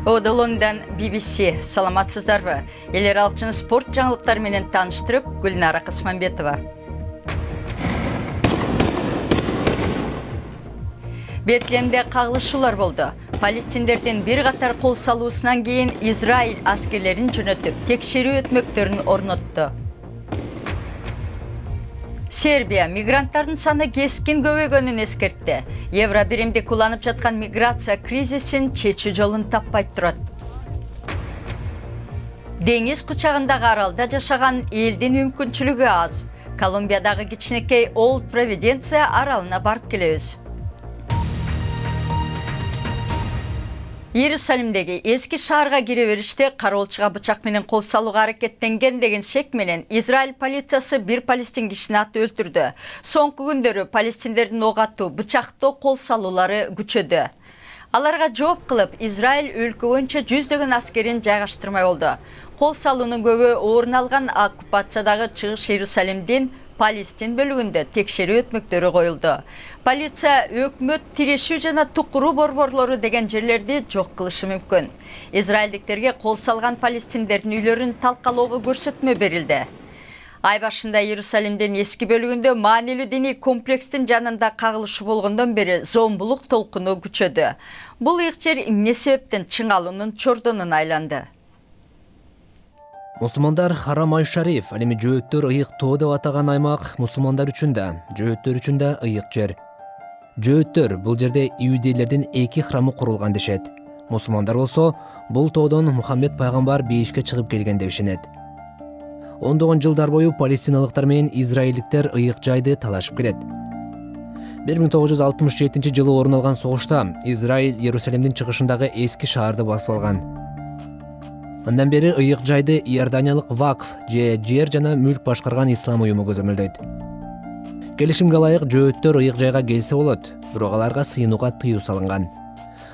Лондон BBC. Саламатсыздарбы? Эл аралык спорт жаңылыктары менен тааныштырып, Гүлнара Кысманбетова. Бетлемде кагылышуулар болду. Палестиндердин бир катар кол салуусунан кийин Израиль аскерлерин жөнөтүп, текшерүү өтмөктөрүн орнотту. Сербия мигранттардын саны кескин көбөйгөнүн эскертти. Евро биримдик уланып жаткан миграция кризисин чечүү жолун таппай турат. Деңиз кучагындагы аралда жашаган элдин мүмкүнчүлүгү аз. Колумбиядагы кичинекей Олд Провиденция аралына барып келебиз. Иерусалимдеги эски шаарга кире бериште кароолчуга бычак менен кол салууга аракеттенген деген шек менен Израиль полициясы бир палестин кишини атып өлтүрдү. Соңку күндөрү палестиндердин ок атуу, бычактоо кол салуулары күчөдү. Аларга жооп кылып, Израиль өлкө боюнча жүздөгөн аскерин жайгаштырмай болду. Кол салуунун көбү орун алган оккупациядагы Чыгыш Иерусалимдин Палестин бөлүгүндө текшерүү өтмөктөрү коюлду. Полиция өкмөт тирешүү жана тукуруу борборлору деген жерлерди жок кылышы мүмкүн. Израилдиктерге кол салган палестиндердин үйлөрүн талкалоого көрсөтмө берилди. Ай башында Иерусалимдин эски бөлүгүндө маанилүү диний комплекстин жанында кагылышуу болгондон бери зомбулук толкуну күчөдү. Бул ыйык жер эмне себептен чыңалуунун чордонуна айланды? Мусулмандар Харам Ай-Шариф, ал эми жөөттөр ыйык тоо деп атаган аймак мусулмандар үчүн да, жөөттөр үчүн да ыйык жер. Жөөттөр бул жерде иудейлердин эки храмы курулган дешет. Мусулмандар болсо бул тоодон Мухаммед пайгамбар бейишке чыгып келген деп ишенет. Ондогон жылдар бою палестиналыктар менен израилдиктер ыйык жайды талашып келет. 1967 жылы орун алган согушта Израиль Иерусалимдин чыгышындагы эски шаарды басып алган. Андан бери ыйык жайды Иорданиялык Вакф же жер жана мүлк башкарган ислам уюму көзөмөлдөйт. Келишимге ылайык жөөттөр ыйык жайга келсе болот, бирок аларга сыйынууга тыюу салынган.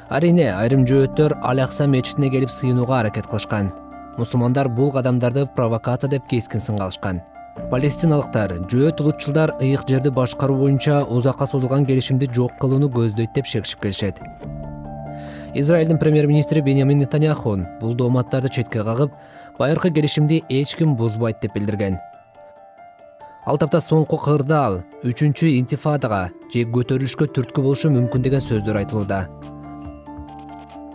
Арине, айрым жөөттөр Ал-Акса мечитине келип сыйынууга аракет кылышкан. Мусулмандар бул кадамдарды провокация деп кескин сынга алышкан. Палестиналыктар жөөт улутчулдар ыйык жерди башкаруу боюнча узакка созулган келишимди жок кылууну көздөйт деп шекшип келишет. Израилдин премьер-министри Беньямин Нетаньяху бул дооматтарды четке кагып, байыркы келишимди эч ким бузбайт деп билдирген. Ал тапта соңку кырдаал 3-чү интифадага же көтөрүлүшкө түрткү болушу мүмкүн деген сөздөр айтылууда.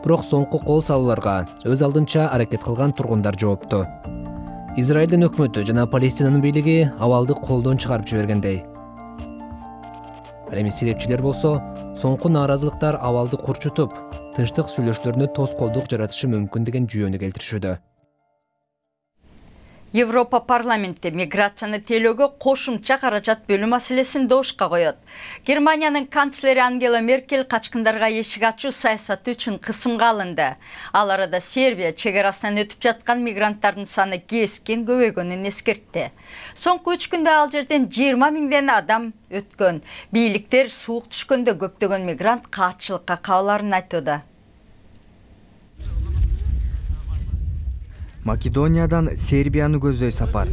Бирок соңку кол салууларга өз алдынча аракет кылган тургундар жоопту. Израилдин өкмөтү жана Палестинанын бийлиги абалды колдон чыгарып жибергендей. Ал эми сирепчилер болсо соңку нааразылыктар абалды курчутуп, тынчтык сүйлөшүүлөрүнө тоскоолдук жаратышы мүмкүн деген жүйөнү келтиришүүдө. Европа парламенти миграцияны тейлөөгө кошумча каражат бөлүү маселесин добушка коет. Германиянын канцлери Ангела Меркель качкындарга эшик ачуу саясаты үчүн кысымга алынды. Ал арада Сербия чегарасынан өтүп жаткан мигранттардын саны кескин көбөйгөнүн эскертти. Соңку 3 күндө ал жерден 20 миңден адам өткөн. Бийликтер суук түшкөндө көптөгөн мигрант каатчылыкка кабыларын айтууда. Македониядан Сербияны көздөй сапар.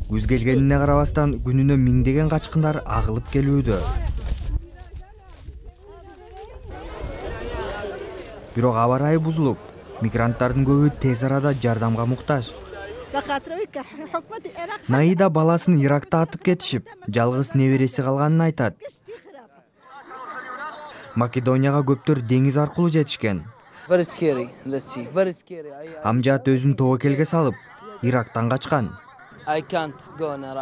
Күз келгенине карабастан күнүнө миңдеген качкындар агылып келүүдө. Бирок аба ырайы бузулуп, мигранттардын көбү тез арада жардамга муктаж. Наида баласын Иракта атып кетишип, жалгыз небереси калганын айтат. Македонияга көптөр деңиз аркылуу жетишкен. Амжат өзүн тобокелге салып, Ирактан качкан.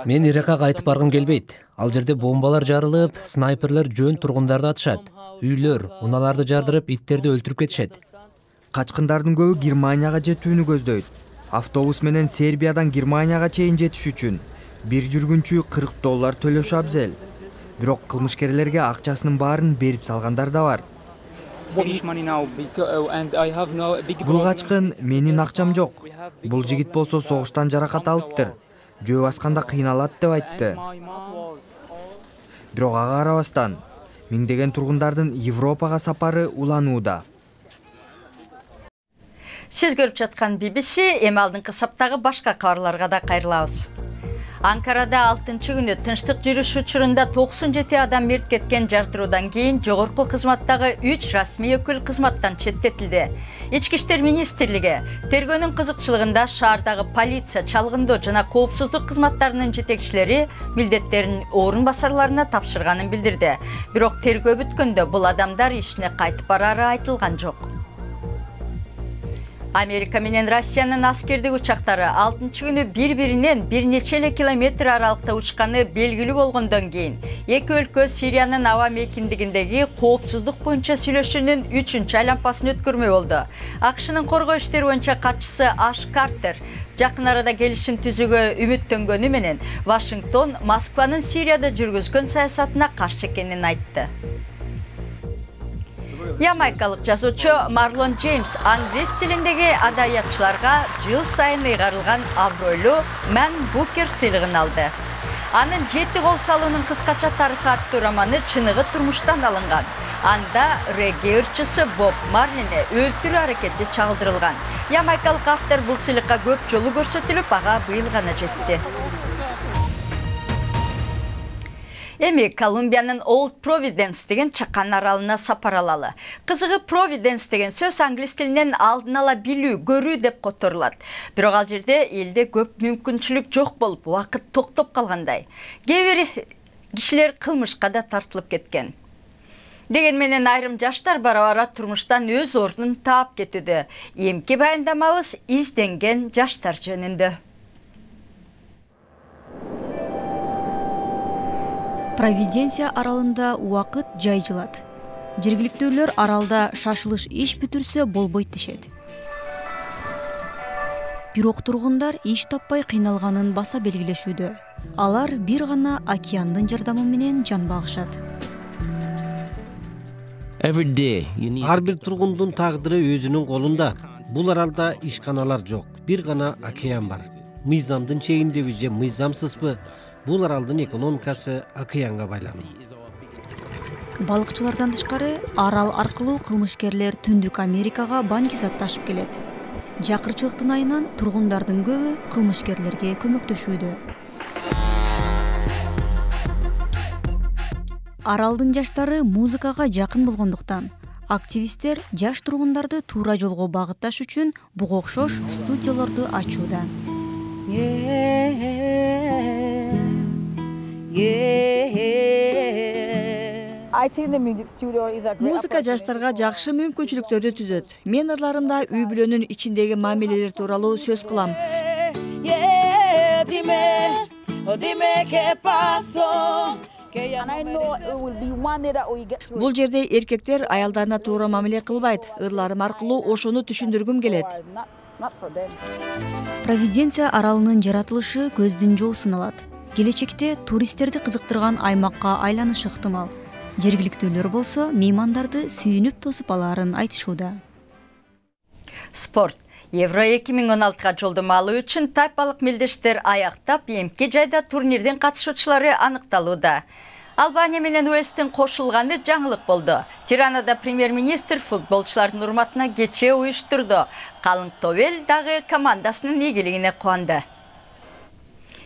Мен Иракка кайтып баргым келбейт. Ал жерде бомбалар жарылып, снайперлер жөн тургундарды атышат. Үйлөр, унааларды жардырып, иттерди өлтүрүп кетишет. Качкындардын көбү Германияга жетүүнү көздөйт. Автобус менен Сербиядан Германияга чейин жетиш үчүн бир жүргүнчү $40 төлөшү абзел. Бирок кылмышкерлерге акчасынын баарын берип салгандар да бар. Бул качкын менин акчам жок. Бул жигит болсо согуштан жаракат алыптыр. Жөө басканда кыйналат деп айтты. Бирок ага карабастан миңдеген тургундардын Европага сапары уланууда. Сиз көрүп жаткан BBC, эми алдыңкы саптагы башка кабарларга да кайрылабыз. Анкарада 6-күнү тынчтык жүрүш учурунда 97 адам мерт кеткен жартыруудан кийин жогорку кызматтагы 3 расмий өкүл кызматтан четтетилди. Ички иштер министрлиги тергөөнүн кызыкчылыгында шаардагы полиция, чалгындоо жана коопсуздук кызматтарынын жетекчилери милдеттерин орун басарларына тапшырганын билдирди. Бирок тергөө бүткөндө бул адамдар ишине кайтып барары айтылган жок. Америка менен Россиянын аскердик учактары 6-күнү бири-биринен бир нече эле километр аралыкта учканы белгилүү болгондон кийин эки өлкө Сириянын аба мейкиндигиндеги коопсуздук боюнча сүйлөшүүнүн 3-чү айланпасын өткөрмөй болду. АКШнын коргоо иштери боюнча катчысы Аш Картер жакын арада келишим түзүүгө үмүттөнгөнү менен Вашингтон Москванын Сирияда жүргүзгөн саясатына каршы экенин айтты. Ямайкалык жазуучу Марлон Джеймс англис тилиндеги адаятчыларга жыл сайын ыйгарылган абройлуу Мэн Букер сыйлыгын алды. Анын 7 кол салуунун кыскача тарыхы аттуу романы чыныгы турмуштан алынган. Анда регги ырчысы Боб Марлини өлтүрүү аракети чагылдырылган. Ямайкалык автор бул сыйлыкка көп жолу көрсөтүлүп, ага быйыл гана жетти. Эми Колумбиянын Old Providence деген чакан аралына сапар алалы. Кызыгы Providence деген сөз англис тилинен алдын ала билүү, көрүү деп которулат. Бирок ал жерде элде көп мүмкүнчүлүк жок болуп, убакыт токтоп калгандай. Кээ бир кишилер кылмышка да тартылып кеткен. Деген менен айрым жаштар бара-бара турмуштан өз ордун таап кетүүдө. Эмки баяндамабыз изденген жаштар жөнүндө. Провиденция аралында убакыт жай жылат. Жергиликтүүлөр аралда шашылыш иш бүтүрсө болбойт дешет. Бирок тургундар иш таппай кыйналганын баса белгилешүүдө. Алар бир гана океандын жардамы менен жан багышат. Ар бир тургундун тагдыры өзүнүн колунда. Бул аралда ишканалар жок, бир гана океан бар. Мыйзамдын чегиндеби же мыйзамсызбы? Бул аралдын экономикасы океанга байлануу. Балыкчылардан тышкары арал аркылуу кылмышкерлер Түндүк Америкага банкизат ташып келет. Жакырчылыктын айынан тургундардын көбү кылмышкерлерге көмөктөшүүдө. Аралдын жаштары музыкага жакын болгондуктан активисттер жаш тургундарды туура жолго багытташ үчүн буга окшош студияларды ачууда. Музыка жаштарга жакшы мүмкүнчүлүктөрдү түзөт. Мен ырларымда үй бүлөнүн ичиндеги мамилелер тууралуу сөз кылам. Бул жерде эркектер аялдарына туура мамиле кылбайт. Ырларым аркылуу ошону түшүндүргүм келет. Провиденция аралынын жаратылышы көздүн жоосун алат. Келечекте туристтерди кызыктырган аймакка айланышы ыктымал. Жергиликтүүлөр болсо меймандарды сүйүнүп тосуп алаарын айтышууда. Спорт. Евро 2016-га жолдомо алуу үчүн тайпалык мелдештер аяктап, эмки жайда турнирдин катышуучулары аныкталууда. Албания менен Уэльстин кошулганы жаңылык болду. Тиранада премьер-министр футболчулардын урматына кече уюштурду. Калың Тобел дагы командасынын ийгилигине кубанды.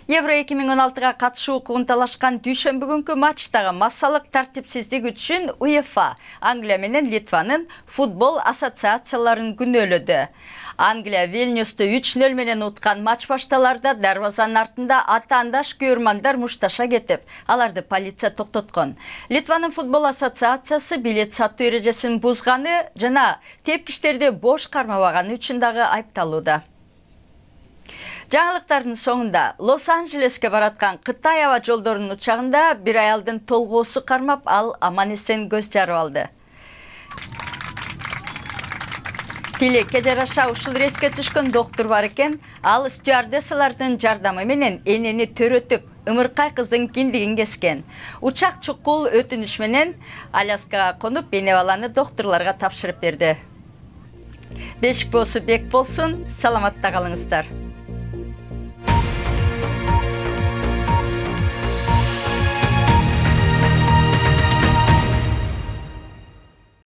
Евро 2016-га катышуу укугун талашкан дүйшөмбү күнкү матчтагы массалык тартипсиздик үчүн УЕФА Англия менен Литванын футбол ассоциацияларын күнөөлөдү. Англия Вильнюсту 3-0 менен уткан матч башталарда дарбазанын артында атаандаш күйөрмандар мушташа кетип, аларды полиция токтоткон. Литванын футбол ассоциациясы билет сатуу эрежесин бузганы жана тепкичтерди бош кармабаганы үчүн дагы айыпталууда. Жаңылыктардын соңунда Лос-Анджелеске бараткан Кытай аба жолдорунун учагында бир аялдын толгоосу кармап, ал аман-эсен көз жарып алды. Тилекке жараша ушул рейске түшкөн доктур бар экен, ал стюардессалардын жардамы менен энени төрөтүп, ымыркай кыздын киндигин кескен. Учак чукул өтүнүш менен Аляскага конуп, эне баланы доктурларга тапшырып берди. Бешик болсу бек болсун, саламатта калыңыздар.